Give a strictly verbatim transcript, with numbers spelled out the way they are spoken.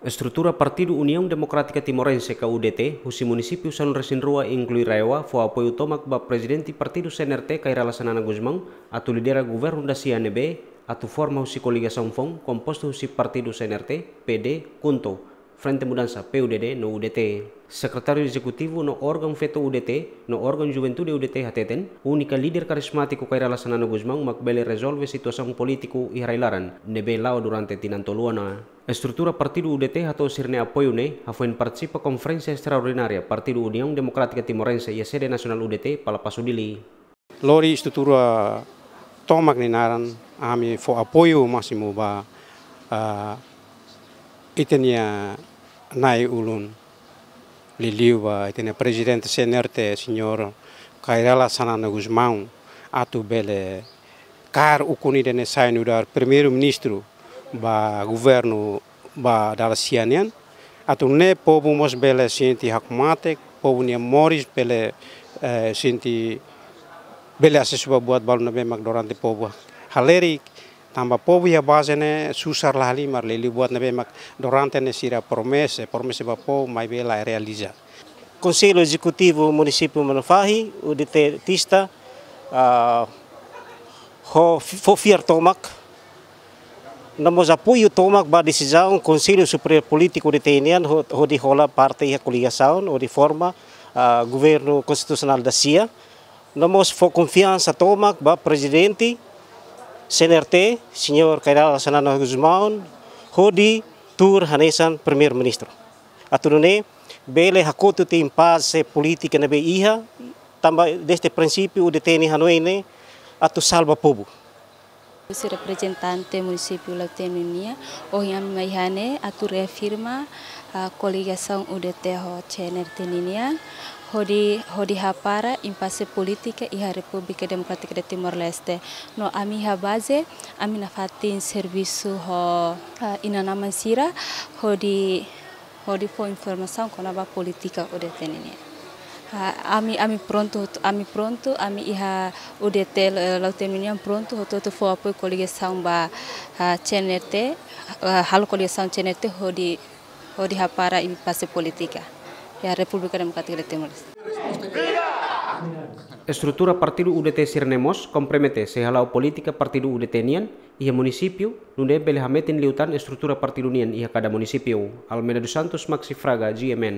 Estrutura Partidu Uniaun Demokrátika Timorense ka U D T husi munisípiu sanulu-resin-rua, inklui RAEOA, fó apoiu tomak ba Prezidente Partidu C N R T, Kay Rala Xanana Gusmão, atu lidera governu dasia ne'ebé atu forma husi koligasaun foun kompostu husi partidu C N R T, P D, KHUNTO, Frente Mudansa, P U D D, no U D T. Sekretáriu Ezekutivu no órgaun feto U D T no órgaun juventude U D T hateten, únika líder karizmátiku Kay Rala Xanana Gusmão mak bele rezolve situasaun polítiku iha rai-laran ne'ebé la'o durante tinan tolu ona. Estrutura partidu U D T hato'o sira-nia apoiu ne'e hafoin partisipa konferénsia estraordinária Partidu Uniaun Demokrátika Timorense iha sede nasionál U D T, Palapasu, Dili. Lori estrutura tomak nia naran, ami fó apoiu másimu ba, ah, ita-nia na'i-ulun, liuliu ba ita-nia Prezidente C N R T, Señór Kay Rala Xanana Gusmão, atu bele kaer ukun ida-ne'e sai nu'udar Primeiru-Ministru ba governu ba dala sia nian, atu nune'e povu mós bele sente hakmatek, povu nia moris bele, eh, sente bele asesu ba buat balu ne'ebé mak durante povu halerik, tanba povu iha baze ne'e susar la halimar, liuliu buat ne'ebé mak durante ne'e sira promese, promese ba povu, maibé la realiza. Konsellu Ezekutivu Munisípiu Manufahi, U D T-tista, ah, ho, fó fiar tomak, no mós apoiu tomak ba desizaun Konsellu Superiór Polítiku U D T nian ho-, hodi hola parte iha koligasaun, hodi forma, ah, governu konstitusionál dasia, no mós fó konfiansa tomak ba Prezidente C N R T, Señór Kay Rala Xanana Gusmão, hodi tuur hanesan Primeiru-Ministru. Atu nune'e bele hakotu tiha impase polítika ne'ebé iha, tanba desde prinsípiu U D T nia hanoin ne'e atu salva povu. Husi reprezentante munisípiu Lautém nian, ohin ami mai iha ne'e atu reafirma, ah, koligasaun U D T ho C N R T ninian, hodi, hodi hapara impase polítika iha Repúblika Demokrátika de Timor-Leste. No ami iha baze, ami nafatin servisu ho, ah, inan-aman sira, hodi hodi fó informasaun kona-ba polítika U D T nian. Ah, ami, ami prontu, ami prontu, ami iha U D T, eh, Lautém nian prontu, hotu-hotu fó apoiu koligasaun ba, ah, C N R T, ah, halo koligasaun C N R T hodi, hodi hapara impase polítika iha Repúblika Demokrátika de Timor. Estrutura partidu U D T sira-ne'e mós kompromete sei hala'o polítika partidu U D T nian iha munisípiu, nune'e bele hametin liután estrutura partidu nian iha kada munisípiu. Almeida dos Santos, Maxi Fraga, G M N.